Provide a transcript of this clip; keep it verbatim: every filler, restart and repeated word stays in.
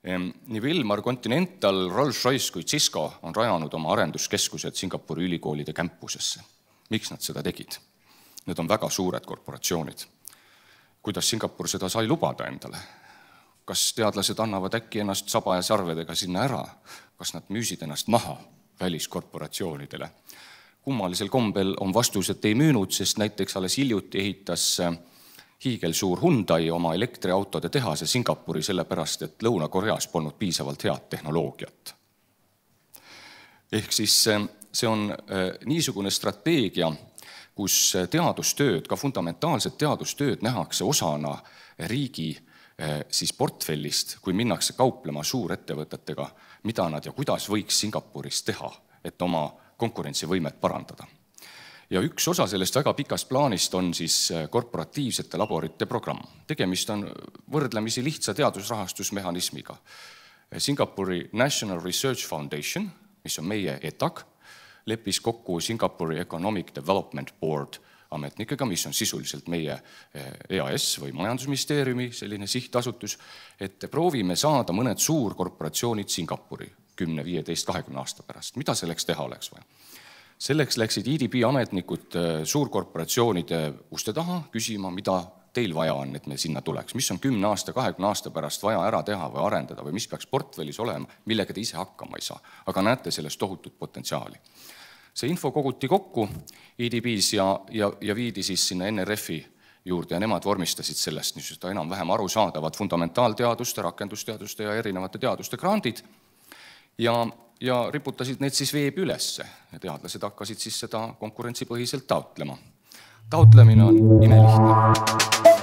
Nii Wilmar, Continental, Rolls-Royce kui Cisco on rajanud oma arenduskeskused Singapuri ülikoolide campusesse. Miks nad seda tegid? Need on väga suured korporatsioonid. Kuidas Singapur seda sai lubada endale? Kas teadlased annavad äkki ennast saba ja sarvedega sinna ära? Kas nad müüsid ennast maha väliskorporatsioonidele? Kummalisel kombel on vastus, et ei müünud, sest näiteks alles hiljuti ehitas hiigelsuur Hyundai oma elektriautode tehase Singapuri sellepärast, et Lõuna-Koreas polnud piisavalt head tehnoloogiat. Ehk siis see on niisugune strateegia, kus teadustööd, ka fundamentaalset teadustööd nähakse osana riigi siis portfellist, kui minnakse kauplema suurettevõtetega, mida nad ja kuidas võiks Singapuris teha, et oma konkurentsivõimet parandada. Ja üks osa sellest väga pikast plaanist on siis korporatiivsete laborite programm. Tegemist on võrdlemisi lihtsa teadusrahastusmehhanismiga. Singapuri National Research Foundation, mis on meie E T A C, leppis kokku Singapuri Economic Development Board ametnikega, mis on sisuliselt meie E A S või majandusministeeriumi selline sihtasutus, et proovime saada mõned suurkorporatsioonid Singapuri kümne, viieteist, kahekümne aasta pärast. Mida selleks teha oleks vaja? Selleks läksid E D B ametnikud suurkorporatsioonide uste taha küsima, mida teil vaja on, et me sinna tuleks. Mis on kümne aasta, kahekümne aasta pärast vaja ära teha või arendada või mis peaks portfellis olema, millega te ise hakkama ei saa. Aga näete sellest tohutut potentsiaali. See info koguti kokku E D B-s ja, ja, ja viidi siis sinna N R F-i juurde ja nemad vormistasid sellest niisugust enam-vähem arusaadavad fundamentaalteaduste, rakendusteaduste ja erinevate teaduste grandid ja ja riputasid need siis veebi ülesse. Teadlased hakkasid siis seda konkurentsipõhiselt taotlema. Taotlemine on imelihtne.